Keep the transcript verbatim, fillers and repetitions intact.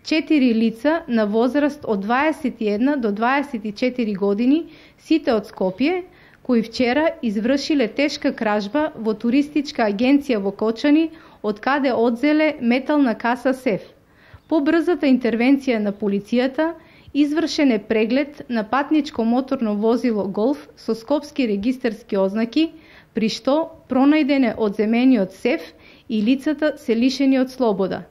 четири лица на возраст од дваесет и една до дваесет и четири години, сите од Скопје, кои вчера извршиле тешка кражба во туристичка агенција во Кочани, од каде одзеле метална каса сеф. По брзата интервенција на полицијата, извршен е преглед на патничко моторно возило Голф со скопски регистарски ознаки, при што пронајден е одземениот сеф и лицата се лишени од слобода.